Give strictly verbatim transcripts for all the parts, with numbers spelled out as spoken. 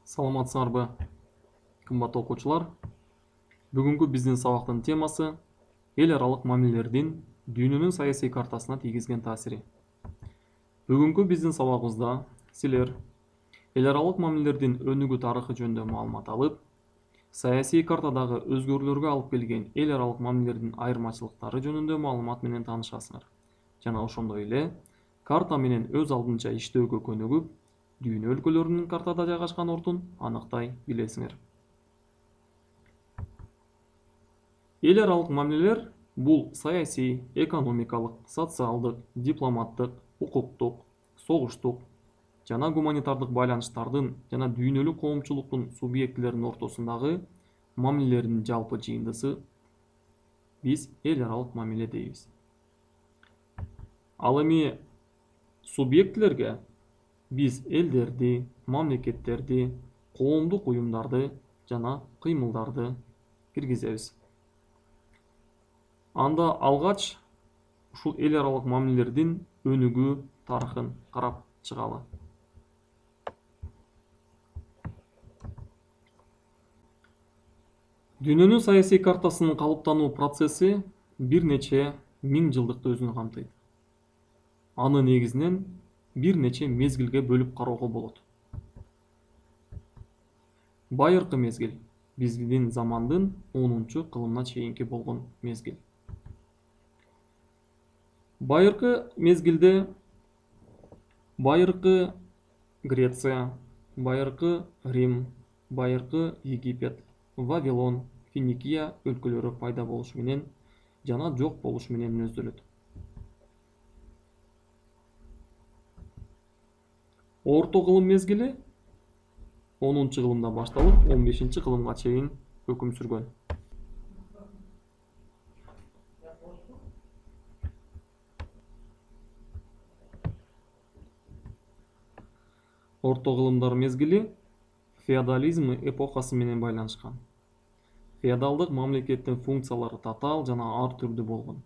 Саламатсыңарбы, кымбаттуу окуучулар. Бүгүнкү биздин сабактын темасы эл аралык мамилелердин дүйнөнүн саясий картасына тийгизген таасири. Бүгүнкү биздин сабагыбызда силер эл аралык мамилелердин өнүгүү тарыхы жөнүндө маалымат алып, саясий картадагы өзгөрүүлөргө алып келген эл аралык мамилелердин айырмачылыктары жөнүндө маалымат менен таанышасыңар. Жана ошондой эле карта менен өз алдынча иштөөгө көнүгүп, дүйнө өлкөлөрүнүн картада жайгашкан ордун аныктай билесиңер. Эл аралык мамилелер бул саясий, экономикалык, социалдык, дипломаттык, укуктук, согуштук жана гуманитардык байланыштардын жана дүйнөлүк коомчулуктун субъектилеринин ортосундагы мамилелердин жалпы жыйындысы биз эл аралык мамиле дейбиз. Ал эми субъектилерге биз элдерди, мамлекеттерди, коомдук уюмдарды жана кыймылдарды киргизебиз. Анда алгач ушул эл аралык мамилелердин өнүгүү тарыхын карап чыгалы. Дүйнөнүн саясий картасынын калыптануу процесси бир нече миң жылдыкты өзүнө камтыйт. Аны негизинен бир нече мезгилге бөлүп кароого болот. Байыркы мезгил биздин замандын онунчу кылымына чейинки болгон мезгил. Байыркы мезгилде байыркы Греция, байыркы Рим, байыркы Египет, Вавилон, Финикия өлкөлөрү пайда болушу менен жана жок болушу менен мүнөздөлөт. Орто кылым мезгили онунчу кылымда башталып, он бешинчи кылымга чейин өкүм сүргөн. Орто кылымдар мезгили феодализм эпохасы менен байланышкан. Феодалдык мамлекеттин функциялары татаал жана ар түрдүү болгон.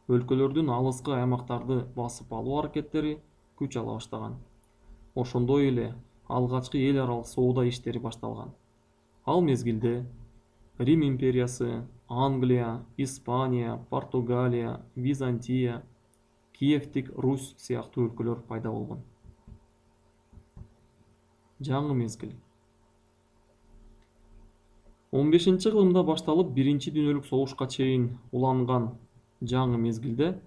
Өлкөлөрдүн алыскы аймактарды басып алуу аракеттери күч ала баштаган. Ошондой эле алгачкы эл аралык соода иштери башталган. Ал мезгилде Рим империясы, Англия, Испания, Португалия, Византия, Киевтик Русь сыяктуу өлкөлөр пайда болгон. Жаңы мезгил он бешинчи кылымда башталып, биринчи дүйнөлүк согушка чейин уланган жаңы мезгилде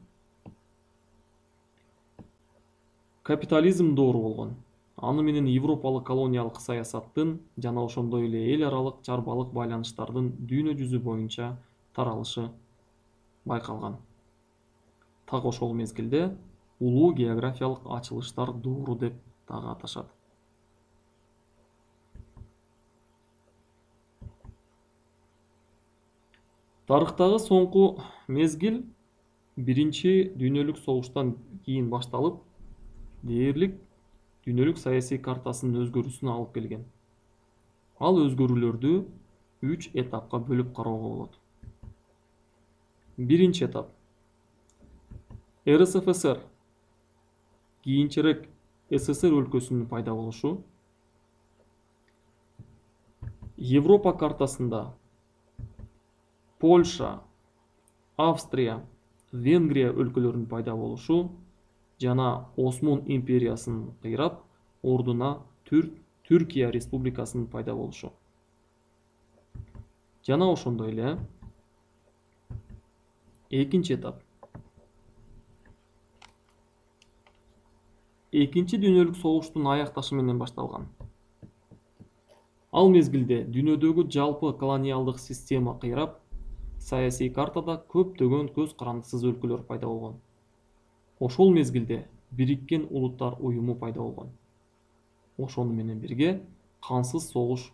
капитализм доору болгон. Аны менен европалык колониялык саясаттын жана ошондой эле эл аралык чарбалык байланыштардын дүйнө жүзү боюнча таралышы байкалган. Так ошол мезгилде улуу географиялык ачылыштар доору деп дагы аташат. Тарыхтагы соңку мезгил биринчи дүйнөлүк согуштан кийин башталып, дээрлик дүйнөлүк саясий картасынын өзгөрүүсүнө алып келген. Ал өзгөрүүлөрдү үч этапка бөлүп кароого болот. Биринчи этап эр эс эф эс эр, кийинчерээк эс эс эр өлкөсүнүн пайда болушу. Европа картасында Польша, Австрия, Венгрия өлкөлөрүнүн пайда болушу жана Осман империясын кыйрап, ордуна Түркия республикасынын пайда болушу. Жана ошондой эле экинчи этап Экинчи дүйнөлүк согуштун аякташы менен башталган. Ал мезгилде дүйнөдөгү жалпы колониалдык система кыйрап, саясий картада көптөгөн көз карандысыз өлкөлөр пайда болгон. Ошол мезгилде Бириккен Улуттар уюму пайда болгон. Ошону менен бирге кансыз согуш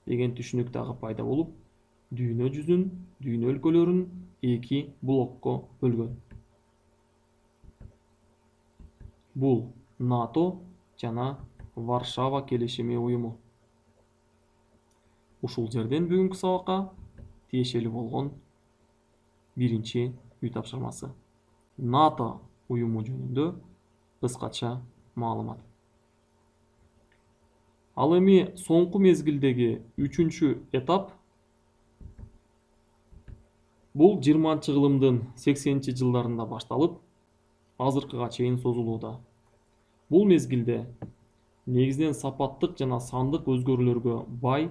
деген түшүнүк дагы пайда болуп, дүйнө жүзүн, дүйнө өлкөлөрүн эки блокко бөлгөн. Бул НАТО жана Варшава келишими уюму. Ушул жерден бүгүнкү сабакка тиешелүү болгон биринчи үй тапшырмасы. НАТО уюму жөнүндө кыскача маалымат. Ал эми соңку мезгилдеги үчүнчү этап бул жыйырманчы кылымдын сексенинчи жылдарында башталып, азыркыга чейин созулууда. Бул мезгилде негизинен сапаттык жана сандык өзгөрүүлөргө бай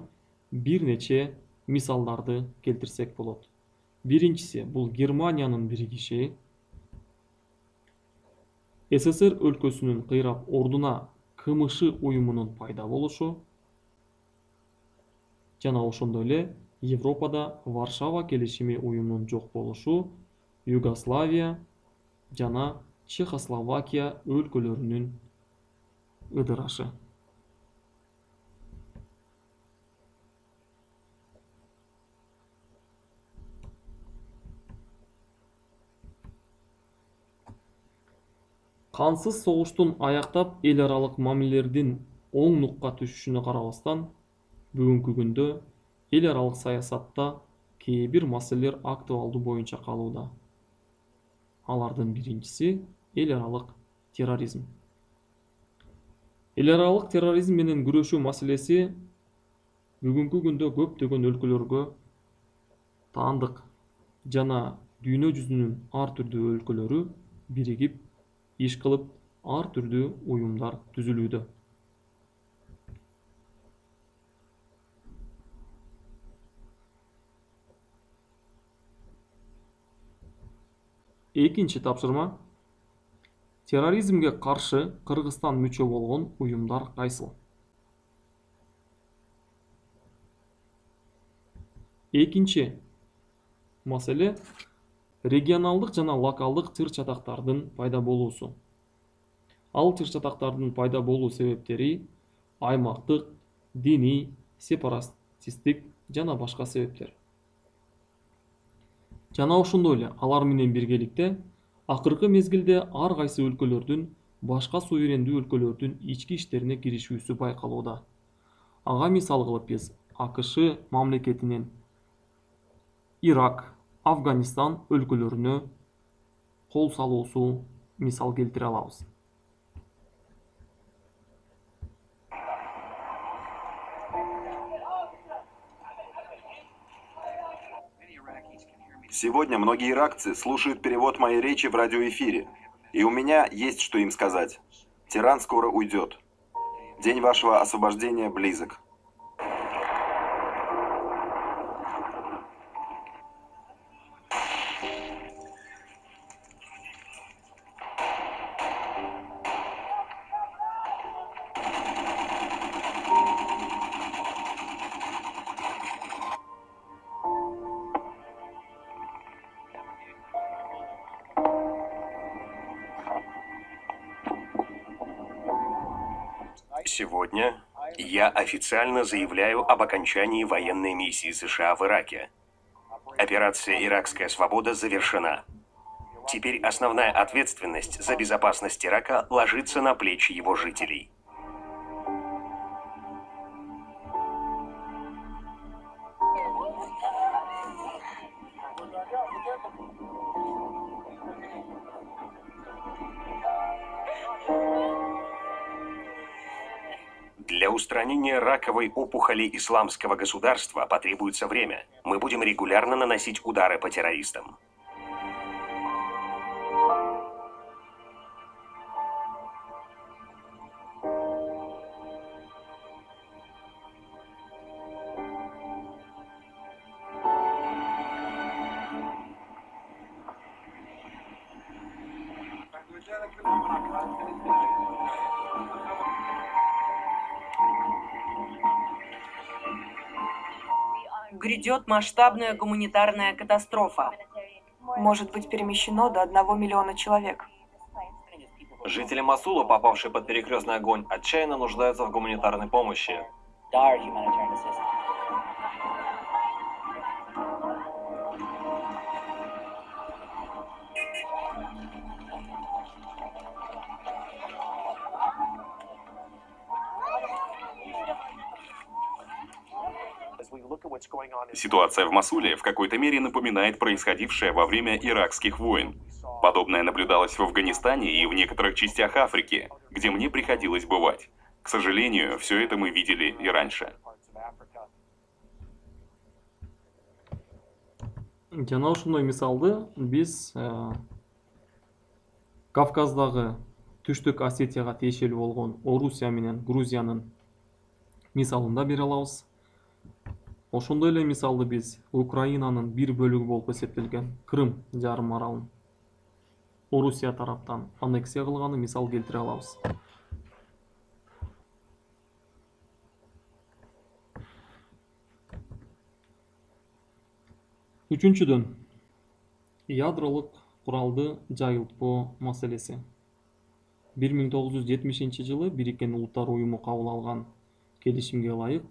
бир нече мисалдарды келтирсек болот. Биринчиси бул Германиянын биригиши, СССР өлкөсүнүн кыйрап ордуна КМШ уюмунун пайда болушу жана ошондой эле Европада Варшава келишими уюмунун жок болушу, Югославия жана Чехословакия өлкөлөрүнүн ыдырашы. Кансыз согуштун аяктап эл аралык мамилелердин оң нукка түшүшүнө карабастан, бүгүнкү күндө эл аралык саясатта кээ бир маселелер актуалдуу боюнча калууда. Алардын биринчиси эл аралык терроризм. Эл аралык терроризм менен күрөшүү маселеси бүгүнкү күндө көптөгөн өлкөлөргө таандык жана дүйнө жүзүнүн ар түрдүү өлкөлөрү биригип иш кылып, ар түрдүү уюмдар түзүлүүдө. Экинчи тапшырма: терроризмге каршы Кыргызстан мүчө болгон уюмдар кайсыл? Экинчи маселе регионалдык жана локалдык тыр-чатактардын пайда болуусу. Ал тыр-чатактардын пайда болуу себептери аймактык, диний, сепаратисттик жана башка себептер. Жана ошондой эле алар менен биргеликте акыркы мезгилде ар кайсы өлкөлөрдүн башка суверендүү өлкөлөрдүн ички иштерине киришүүсү байкалууда. Ага мисал кылып биз АКШ мамлекетинин Ирак, Афганистан өлкөлөрүнө кол салуусу мисал келтире алабыз. Сегодня многие иракцы слушают перевод моей речи в радиоэфире, и у меня есть что им сказать. Тиран скоро уйдет. День вашего освобождения близок. Сегодня я официально заявляю об окончании военной миссии США в Ираке. Операция «Иракская свобода» завершена. Теперь основная ответственность за безопасность Ирака ложится на плечи его жителей. Для устранения раковой опухоли исламского государства потребуется время. Мы будем регулярно наносить удары по террористам. Грядет масштабная гуманитарная катастрофа. Может быть перемещено до одного миллиона человек. Жители Мосула, попавшие под перекрестный огонь, отчаянно нуждаются в гуманитарной помощи. Ситуация в Мосуле в какой-то мере напоминает происходившее во время иракских войн. Подобное наблюдалось в Афганистане и в некоторых частях Африки, где мне приходилось бывать. К сожалению, все это мы видели и раньше. Жана ошондой мисалды биз э, Кавказдагы Түштүк Осетияга тиешелүү болгон Орусия менен Грузиянын мисалында бере алабыз. Ошондой эле мисалды биз Украинанын бир бөлүгү болуп эсептелген Крым жарым аралын Орусия тараптан аннексия кылганы мисал келтире алабыз. Үчүнчүдөн, ядролук куралды жайылтпоо маселеси. бир миң тогуз жүз жетимишинчи жылы Бириккен Улуттар Уюму кабыл алган келишимге ылайык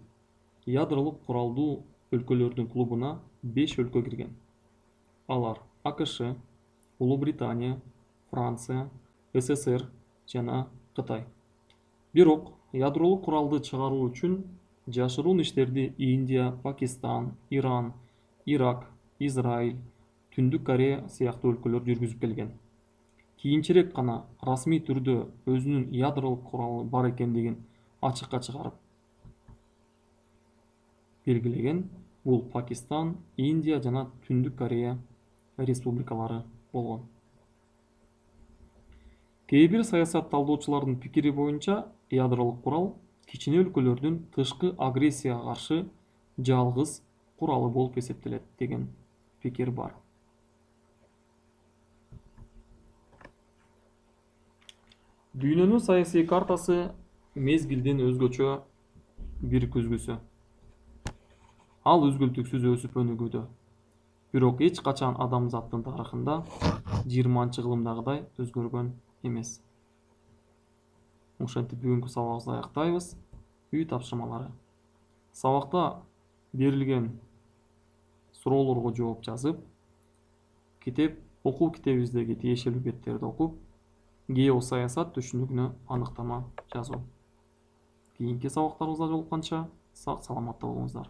ядролук куралдуу өлкөлөрдүн клубуна беш өлкө кирген. Алар АКШ, Улуу Британия, Франция, СССР жана Кытай. Бирок ядролук куралды чыгаруу үчүн жашыруун иштерди Индия, Пакистан, Иран, Ирак, Израиль, Түндүк Корея сыяктуу өлкөлөр жүргүзүп келген. Кийинчерээк гана расмий түрдө өзүнүн ядролук куралы бар экендигин ачыкка чыгарып белгилеген бул Пакистан, Индия жана Түндүк Корея республикалары болгон. Кээ бир саясатталдоочулардын пикири боюнча ядролук курал кичине өлкөлөрдүн тышкы агрессияга каршы жалгыз куралы болуп эсептелет деген пикир бар. Дүйнөнүн саясий картасы мезгилдин өзгөчө бир күзгүсү. Ал үзгүлтүксүз өсүп өнүгүүдө. Бирок эч качан адамзаттын тарыхында жыйырманчы кылымдагыдай өзгөргөн эмес. Ошентип бүгүнкү сабагыбызды аяктайбыз. Үй тапшырмалары. Сабакта берилген суроолорго жооп жазып, китеп окуу китебибиздеги тиешелүү беттерди окуп, геосаясат түшүнүгүнө аныктама жазуу. Кийинки сабактарыбызда жолукканча сак саламатта болуңуздар.